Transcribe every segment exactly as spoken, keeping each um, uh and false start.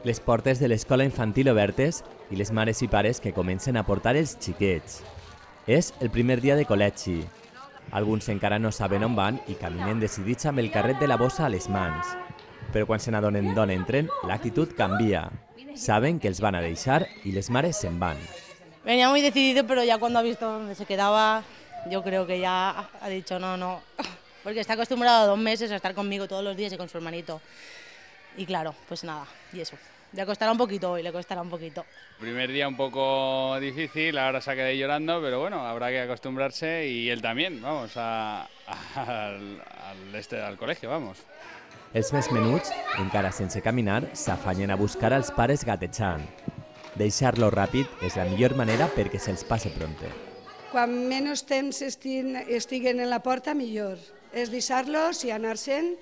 Les portes de l'escola infantil obertes i les mares i pares que comencen a portar els xiquets. És el primer dia de col·legi. Alguns encara no saben on van i caminen decidits amb el carret de la bossa a les mans. Però quan se n'adonen d'on entren, l'actitud canvia. Saben que els van a deixar y les mares se'n van. Venía muy decidido, pero ya cuando ha visto dónde se quedaba, yo creo que ya ha dicho no, no. Porque está acostumbrado dos meses a estar conmigo todos los días y con su hermanito. Y claro, pues nada, y eso. Le costará un poquito hoy, le costará un poquito. Primer día un poco difícil, ahora se ha quedado llorando, pero bueno, habrá que acostumbrarse y él también, vamos, a, a, al, al, este, al colegio, vamos. Els més menuts, encara sense caminar, s'afanyen a buscar als pares gatejant. Deixar-lo ràpid és la millor manera perquè se'ls passe prompte. Quan menys temps estiguen en la porta, millor. És deixar-los i anar-se'n,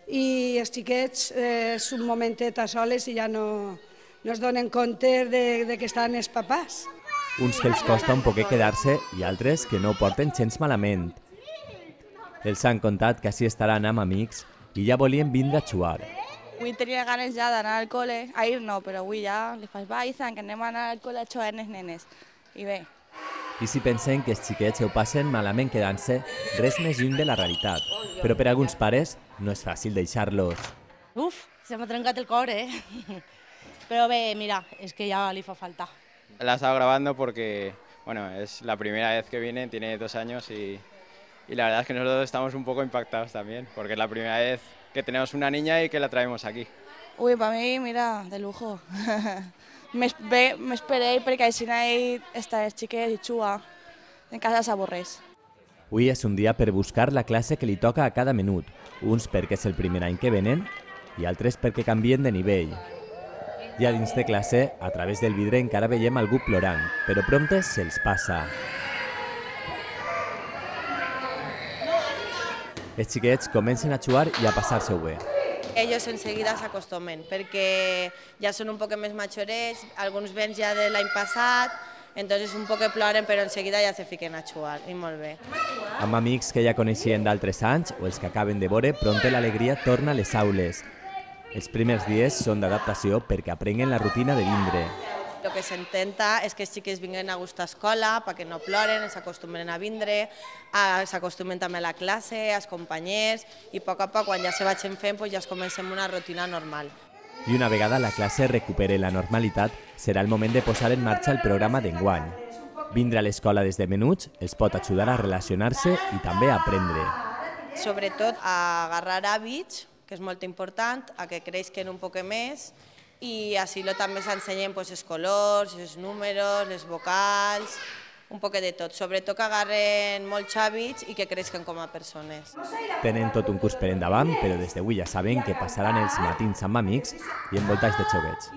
i els xiquets eh, és un momentet a soles i ja no, no es donen compte de, de que estan els papàs. Uns que els costa un poquet quedar-se i altres que no ho porten gens malament. Els han contat que així estaran amb amics i ja volien vindre a jugar. Avui tenia ganes ja d'anar al col·le, a ir no, però avui ja li faig va, Izan, que anem a anar al col·le a jugar amb els nenes. I bé. I si pensen que els xiquets ho passen malament quedant-se, res més lluny de la realitat. Però per a alguns pares no és fàcil deixar-los. Uf, se m'ha trencat el cor, eh? Però bé, mira, és que ja li fa falta. La he estado grabando porque, bueno, es la primera vez que viene, tiene dos años y, y la verdad es que nosotros estamos un poco impactados también, porque es la primera vez que tenemos una niña y que la traemos aquí. Uy, para mí, mira, de lujo. M'esperé perquè així ell està els xiquets i juga. En casa s'avorreix. Avui és un dia per buscar la classe que li toca a cada minut, uns perquè és el primer any que venen i altres perquè canvien de nivell. Ja dins de classe, a través del vidre encara veiem algú plorant, però prompte se'ls passa. Els xiquets comencen a jugar i a passar-se-ho bé. Ellos enseguida se acostumen, perquè ja són un poc més majorets, alguns vens ja de l'any passat, entonces un poc ploren, però enseguida ja se fiquen a jugar, i molt bé. Amb amics que ja coneixien d'altres anys o els que acaben de veure, prompte l'alegria torna a les aules. Els primers dies són d'adaptació perquè aprenguen la rutina de vindre. El que s'intenta és que els xiquets vinguin a gust a escola, perquè no ploren, s'acostumen a vindre, s'acostumen també a la classe, als companys, i a poc a poc, quan ja se vagin fent, ja es comencem una rutina normal. I una vegada la classe recupere la normalitat, serà el moment de posar en marxa el programa d'enguany. Vindre a l'escola des de menuts els pot ajudar a relacionar-se i també a aprendre. Sobretot a agarrar hàbits, que és molt important, a que creixen un poc més, i així també s'ensenyen els colors, els números, les vocals, un poc de tot. Sobretot que agarren molts hàbits i que creixen com a persones. Tenen tot un curs per endavant, però des d'avui ja saben que passaran els matins amb amics i envoltats de joguets.